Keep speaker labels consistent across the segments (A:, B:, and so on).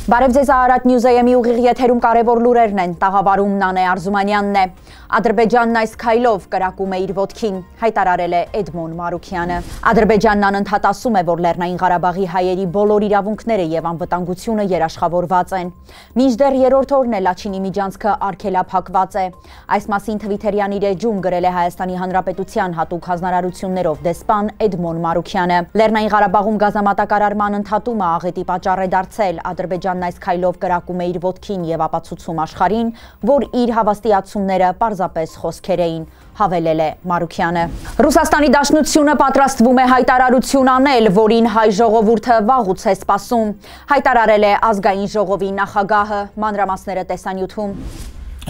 A: Բարև ձեզ Արարատ Նյուզայեմի ուղիղ եթերում կարևոր լուրերն են, տաղավարում Նանե Արզումանյանն է։ Ադրբեջանն այս քայլով կրակում է իր ոտքին, հայտարարել է Էդմոն Մարուքյանը։ Ադրբեջանն անընդհատ ասում է, որ Լեռնային Ղարաբաղի հայերի բոլոր իրավունքները եւ անվտանգությունը երաշխավորված են։ Մինչդեռ երրորդ օրն է Լաչինի միջանցքը արգելափակված է։ Այս մասին Թվիթերյան իր էջում գրել է Հայաստանի Հանրապետության հատուկ հանրարարություններով դեսպան Էդմոն Մարուքյանը։ Լեռնային Ղարաբաղում գազամատակարարման ընդհատումը աղետի պատճառ է դարձել, Ադրբեջանն այս քայլով կրակում է իր ոտքին եւ ապացուցում աշխարհին, որ իր հավաստիացումները պարզապես խոսքեր էին, հավելել է Մարուքյանը։ Ռուսաստանի Դաշնությունը պատրաստվում է հայտարարություն անել, որին հայ ժողովուրդը վաղուց է սպասում, հայտարարել է ազգային ժողովի նախագահը, մանրամասները տեսանյութում։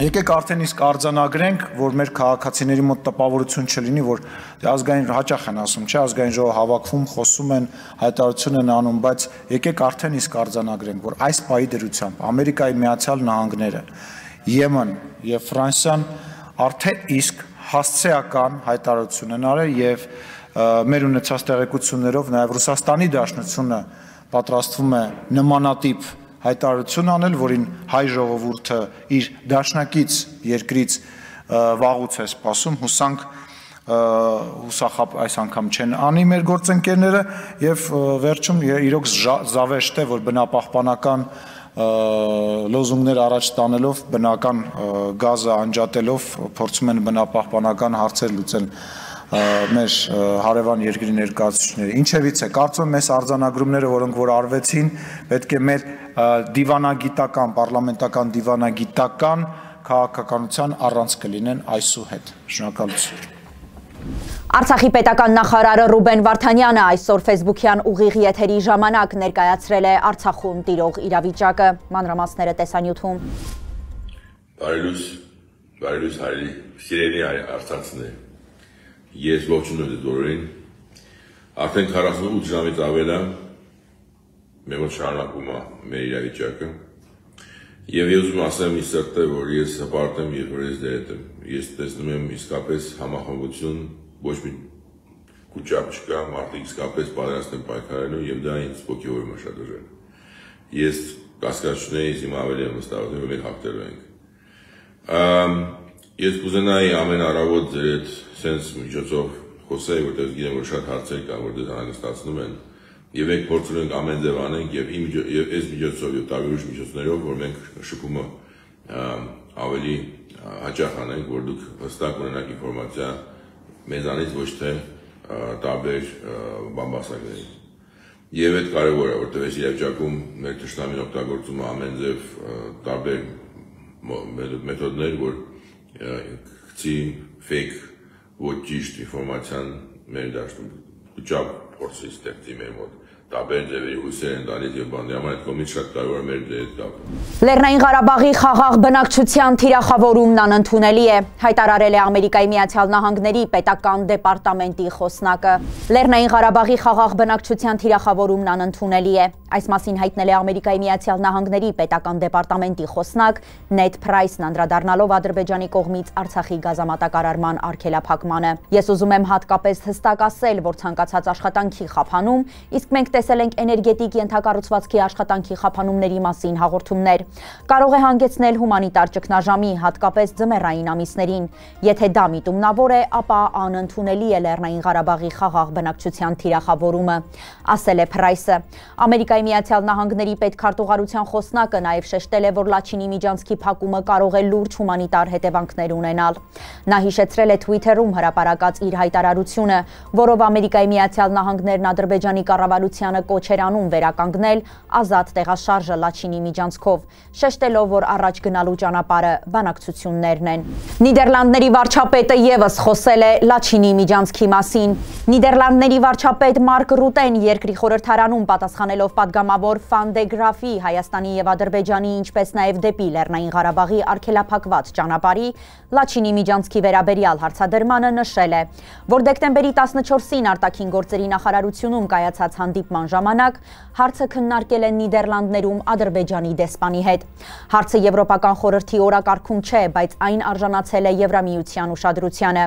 B: Եկեք արդեն իսկ արձանագրենք, որ մեր քաղաքացիների մոտ տպավորություն չլինի, որ ազգային հաճախ են ասում, չէ, ազգային ժողովը հավաքվում, խոսում են, հայտարարություն են անում, բայց եկեք արդեն իսկ արձանագրենք, որ այս պահի դրությամբ Ամերիկայի Միացյալ Նահանգները, Եմեն եւ Ֆրանսիան արդեն իսկ հասցեական հայտարարություն են արել եւ մեր ունեցած տեղեկություններով նաեւ Ռուսաստանի Դաշնությունը պատրաստվում է նմանատիպ հայտարարություն անել, որին հայ ժողովուրդը իր դաշնակից երկրից վաղուց է սպասում, հուսախապ այս անգամ չեն անի մեր գործընկերները եւ վերջում իրոք զավեշտ է, որ բնապահպանական լոզունգներ առաջ տանելով, բնական գազը անջատելով փորձում են բնապահպանական հարցեր լուծել մեր հարևան երկրի ներկայացուցիչները։ Ինչևից է, կարծում եմ այս արձանագրումները, որոնք որ արվեցին, պետք է մեր դիվանագիտական, պարլամենտական դիվանագիտական քաղաքականության առանց կլինեն այսուհետ։ Շնորհակալություն։
A: Արցախի պետական նախարարը Ռուբեն Վարդանյանը այսօր ֆեյսբուքյան ուղիղ եթերի ժամանակ ներկայացրել է Արցախում տիրող իրավիճակը, մանրամասները տեսանյութում։
C: Բարելույս հայրի, սիրելի արցախցիներ։ Ես ողջունում եմ բոլորին։ Արդեն 48 ժամից ավել է մեր մոտ շարունակում է մեր իրավիճակը։ Եվ ես ուզում ասեմ ինձ սրտե, որ ես հպարտ եմ, երբ որ ես դերետ եմ։ Ես տեսնում եմ իսկապես համախմբություն, ոչ մի կուճապ չկա, մարդիկ իսկապես պատրաստ են պայքարելու եւ դա ինձ ոգևորում է շատ ուժեղ։ Ես կասկածությունեի հիմա ավելի եմ վստահում, որ մենք հաղթելու ենք։ Ես կուզենայի ամեն առավոտ ձեր հետ սենց միջոցով խոսեի, որտեղ գիտեմ, որ շատ հարցեր կան, որ դες անհանգստացնում են, եւ մենք փորձում ենք ամեն ձև անենք եւ այս միջոցով եւ տարբեր ուրիշ միջոցներով, որ մենք շփումը ավելի հաճախ անենք, որ դուք հստակ ունենաք ինֆորմացիա մեզանից, ոչ թե տարբեր բամբասակներից։ Եվ այդ կարևոր է, որտեղ այս իրավիճակում մեր թշնամին օգտագործում է ամեն ձև տարբեր մեթոդներ, որ գցի fake ոչ ճիշտ ինֆորմացիան մեր դաշտում ուճապ փորձի ստեղծի մեր մոտ տարբեր ձևերի հույսեր են տալիս եւ բան դրա այդ կողմից շատ կարեւոր է մեր դեր կապը։
A: Լեռնային Ղարաբաղի խաղաղ բնակչության թիրախավորումն անընդունելի է, հայտարարել է Ամերիկայի Միացյալ Նահանգների պետական դեպարտամենտի խոսնակը։ Լեռնային Ղարաբաղի խաղաղ բնակչության թիրախավորումն անընդունելի է, այս մասին հայտնել է Ամերիկայի Միացյալ Նահանգների պետական դեպարտամենտի խոսնակ Նեդ Փրայսն անդրադառնալով Ադրբեջանի կողմից Արցախի գազամատակարարման արգելափակմանը։ Ես ուզում եմ հատկապես հստակ ասել, որ ցանկացած աշխատանքի խափանում, իսկ մենք տեսել ենք էներգետիկ ենթակառուցվածքի աշխատանքի խափանումների մասին հաղորդումներ, կարող է հանգեցնել հումանիտար ճգնաժամի, հատկապես ձմեռային ամիսներին։ Եթե դա միտումնավոր է, ապա անընդունելի է Լեռնային Ղարաբաղի խաղաղ բնակչության թիրախավորումը, ասել է Փրայսը։ Ամերիկայի Միացյալ Նահանգների պետքարտուղարության խոսնակը նաև շեշտել է, որ Լաչինի միջանցքի փակումը կարող է լուրջ հումանիտար հետևանքներ ունենալ։ Նա հիշեցրել է Twitter-ում հրապարակած իր հայտարարությունը, որով Ամերիկայի Միացյալ Նահանգներն Ադրբեջանի կառավարությանը կոչ էր անում վերականգնել ազատ տեղաշարժը Լաչինի միջանցքով, շեշտելով, որ առաջ գնալու ճանապարհը բանակցություններն են։ Նիդերլանդների վարչապետը եւս խոսել է Լաչինի միջանցքի մասին։ Նիդերլանդների վարչապետ Մարկ Ռուտեն երկրի խորհրդարանում պատասխանելով պատգամավոր Ֆան դե Գրաֆի Հայաստանի եւ Ադրբեջանի, ինչպես նաեւ դեպի Լեռնային Ղարաբաղի արգելափակված ճանապարհի Լաչինի միջանցքի վերաբերյալ հարցադրմանը նշել է, որ դեկտեմբերի 14-ին արտաքին գործերի նախարարությունում կայացած հանդիպման հանդիպման ժամանակ հարցը քննարկել են Նիդերլանդներում Ադրբեջանի դեսպանի հետ։ Հարցը Եվրոպական խորհրդի օրակարգում չէ, բայց այն արժանացել է Եվրամիության ուշադրությանը։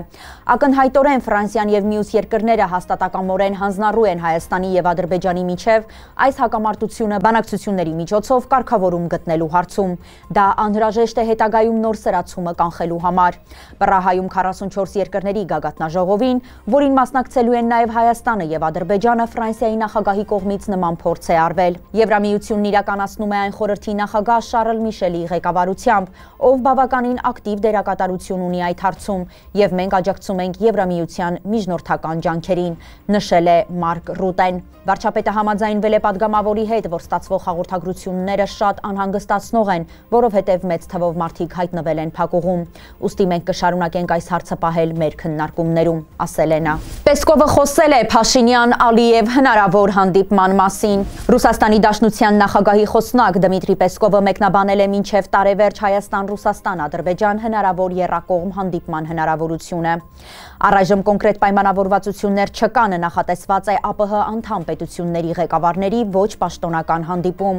A: Ակնհայտորեն Ֆրանսիան եւ մյուս երկրները հաստատակամորեն հանձնառու են Հայաստանի եւ Ադրբեջանի միջև այս հակամարտությունը բանակցությունների միջոցով կարգավորում գտնելու հարցում։ Դա անհրաժեշտ է հետագայում նոր սրացումը կանխելու համար։ Պրահայում 44 երկրների գագաթնաժողովին, որին մասնակցելու են նաև Հայաստանը եւ Ադրբեջանը, Ֆրանսիայի նախագահի կողմից նման փորձ է արվել։ Եվրամիությունն իրականացնում է այն խորհրդի նախագահ Շարլ Միշելի ղեկավարությամբ, ով բավականին ակտիվ դերակատարություն ունի այդ հարցում, եւ մենք աջակցում ենք Եվրամիության միջնորդական ջանքերին, նշել է Մարկ Ռուտեն։ Վարչապետը համաձայնվել է падգամավորի հետ, որ ստացվող հաղորդագրությունները շատ անհանգստացնող են, որովհետև մեծ թվով մարդիկ հայտնվել են փակուղում։ Ուստի մենք կշարունակենք այս հարցը պահել մեր քննարկումներում, ասել է նա։ Պեսկովը խոսել է Փաշինյան-Ալիև հնարավոր հանդիպման մասին։ Ռուսաստանի Դաշնության նախագահի խոսնակ Դմիտրի Պեսկովը մեկնաբանել է մինչև տարեվերջ Հայաստան-Ռուսաստան-Ադրբեջան հնարավոր եռակողմ հանդիպման հնարավորությունը։ Առայժմ կոնկրետ պայմանավորվածություններ չկան, նախատեսված է ԱՊՀ անդամ պետությունների ղեկավարների ոչ պաշտոնական հանդիպում,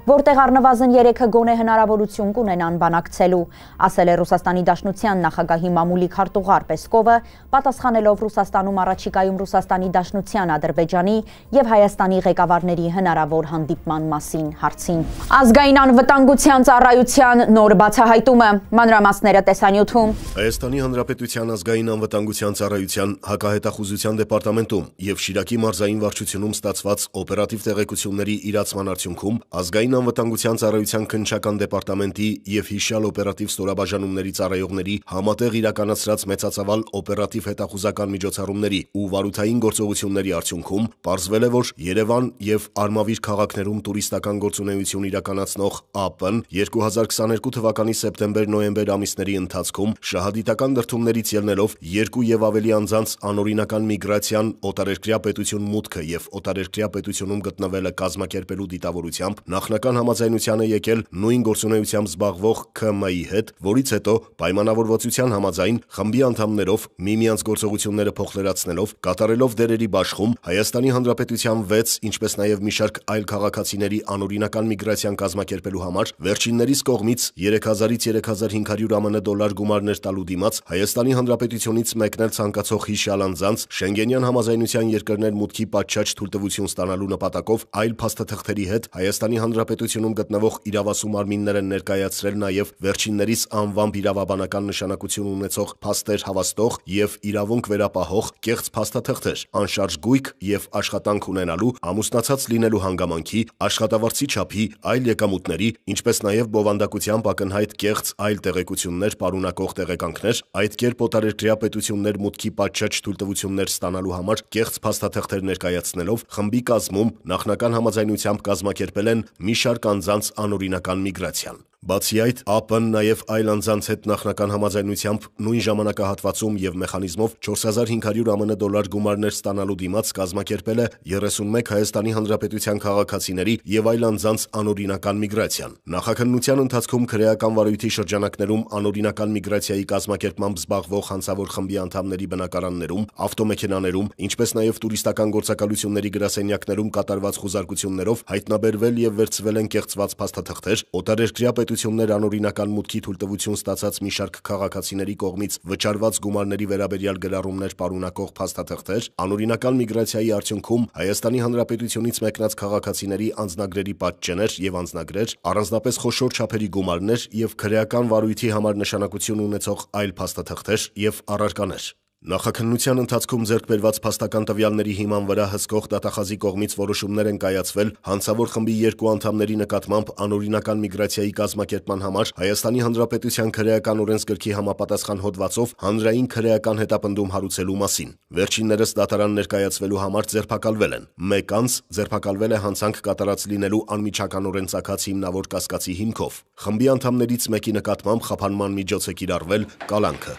A: որտեղ առնվազն 3-ը գոնե հնարավորություն կունենան բանակցելու, ասել է Ռուսաստանի Դաշնության նախագահի մամուլի քարտուղար Պեսկովը, պատասխանելով Ռուսաստանում առաջիկայում Ռուսաստանի Դաշնության, Ադրբեջանի եւ Հայաստանի ղեկավարների հնարավոր հանդիպման մասին հարցին։ Ազգային անվտանգության ծառայության նոր բացահայտումը, մանրամասները տեսանյութում։
D: Հայաստանի Հանրապետության ազգային անվտանգության ծառայության հակահետախուզության դեպարտամենտում եւ Շիրակի մարզային վարչությունում ստացված օպերատիվ տեղեկությունների իրացման արդյունքում ազգային անվտանգության ծառայության քննչական դեպարտամենտի եւ հիշյալ օպերատիվ ստորաբաժանումների ծառայողների համատեղ իրականացրած մեծածավալ օպերատիվ հետախուզական միջոցառումների ու վարութային գործողությունների արդյունքում պարզվել է, որ Երևան եւ Արմավիր քաղաքներում տուրիստական գործունեություն իրականացնող ԱՊ-ն 2022 թվականի սեպտեմբեր-նոյեմբեր ամիսների ընթացքում շահադիտական դրդումներից ելնելով 2 եւ ավելի անձանց անօրինական միգրացիան, օտարերկրյա պետություն մուտքը եւ օտարերկրյա պետությունում գտնվելը կազմակերպելու դիտավորությամբ նախնական համաձայնության է եկել նույն գործունեությամբ զբաղվող ՔՄ-ի հետ, որից հետո պայմանավորվածության համաձայն խմբի անդամներով միմյանց գործողությունները փոխլրացնելով, կատարելով դերերի բաշխում Հայաստանի Հանրապետության 6, ինչպես նաեւ մի շարք այլ քաղաքացիների անօրինական միգրացիան կազմակերպելու համար վերջիններիս կողմից 3000-ից 3500 ԱՄՆ դոլար գումարներ տալու դիմաց Հայաստանի Հանրապետությունից մեկնել ցանկացող հիշյալ անձանց Շենգենյան համաձայնության երկրներ մուտքի պատշաճ թույլտվություն ստանալու նպատակով այլ փաստաթղթերի հետ Հայաստանի Հանրապետությունում գտնվող իրավասու մարմինները ներկայացրել նաև վերջիններիս անվամբ իրավաբանական նշանակություն ունեցող փաստեր հավաստող եւ իրավունք վերապահող կեղծ փաստաթղթեր, անշարժ գույք եւ աշխատանք ունենալու, ամուսնացած լինելու հանգամանքի, աշխատավարձի չափի, այլ եկամուտների, ինչպես նաև բովանդակությամբ ակնհայտ կեղծ այլ տեղեկություններ պարունակող տեղեկանքներ, այդ կերպ օտարերկրյա պետություններ մուտքի պատշաճ թույլտվություններ ստանալու համար կեղծ փաստաթղթեր ներկայացնելով խմբի կազմում նախնական համաձայնությամբ կազմակերպել են մի շարք անձանց անօրինական միգրացիան։ Բացի այդ, ԱՊ-ն նաև այլ անձանց հետ նախնական համաձայնությամբ նույն ժամանակահատվածում եւ մեխանիզմով 4500 ԱՄՆ դոլար գումարներ ստանալու դիմաց կազմակերպել է 31 Հայաստանի Հանրապետության քաղաքացիների եւ այլ անձանց անօրինական միգրացիան։ Նախաքննության ընթացքում քրեական վարույթի շրջանակներում անօրինական միգրացիայի կազմակերպմամբ զբաղվող հանցավոր խմբի անդամների բնակարաններում, ավտոմեքենաներում, ինչպես նաև տուրիստական գործակալությունների գրասենյակներում կատարված խուզարկություններով հայտնաբերվել եւ վերցվել են կեղծված փաստաթղթեր, օտարերկրյա պետություններ անօրինական մուտքի թույլտվություն ստացած մի շարք քաղաքացիների կողմից վճարված գումարների վերաբերյալ գրառումներ պարունակող փաստաթղթեր, անօրինական միգրացիայի արդյունքում Հայաստանի Հանրապետությունից մեկնած քաղաքացիների անձնագրերի պատճեններ եւ անձնագրեր, առանձնապես խոշոր չափերի գումարներ եւ քրեական վարույթի համար նշանակություն ունեցող այլ փաստաթղթեր եւ առարկաներ։ Նախաքննության ընթացքում ձեռք բերված փաստական տվյալների հիման վրա հսկող դատախազի կողմից որոշումներ են կայացվել հանցավոր խմբի 2 անդամների նկատմամբ անօրինական միգրացիայի կազմակերպման համար Հայաստանի Հանրապետության քրեական օրենսգրքի համապատասխան հոդվածով հանրային քրեական հետապնդում հարուցելու մասին։ Վերջիններս դատարան ներկայացվելու համար ձերբակալվել են։ Մեկ անձ ձերբակալվել է հանցանք կատարած լինելու անմիջականորեն ծագած հիմնավոր կասկածի հիմքով։ Խմբի անդամներից մեկի նկատմամբ խափանման միջոց է կիրառվել կալանքը։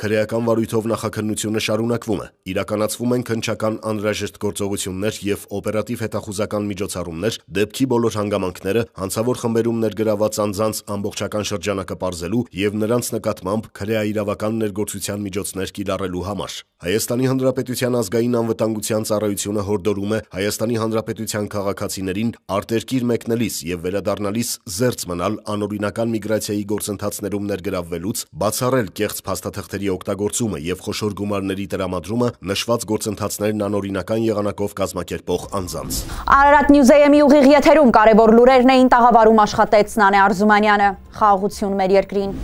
D: քրեական վարույթով նախաքննությունը շարունակվում է։ Իրականացվում են քննչական անհրաժեշտ գործողություններ եւ օպերատիվ հետախուզական միջոցառումներ դեպքի բոլոր հանգամանքները հանցավոր խմբերում ներգրաված անձանց ամբողջական շրջանակը պարզելու եւ նրանց նկատմամբ քրեաիրավական ներգործության միջոցներ կիրառելու համար։ Հայաստանի Հանրապետության ազգային անվտանգության ծառայությունը հորդորում է Հայաստանի Հանրապետության քաղաքացիներին արտերկիր մեկնելիս եւ վերադառնալիս զերծ մնալ անօրինական միգրացիայի գործընթացներում ներգրավվելուց, բացառել կեղծ փաստաթղթերի օգտագործումը եւ խոշոր գումարների տրամադրումը նշված գործընթացներն անօրինական եղանակով կազմակերպող անձանց։
A: Արարատ Նյուզեյեմի ուղիղ եթերում կարևոր լուրերն էին, տաղավարում աշխատեց Նանե Արզումանյանը։ Խաղաղություն մեր երկրին։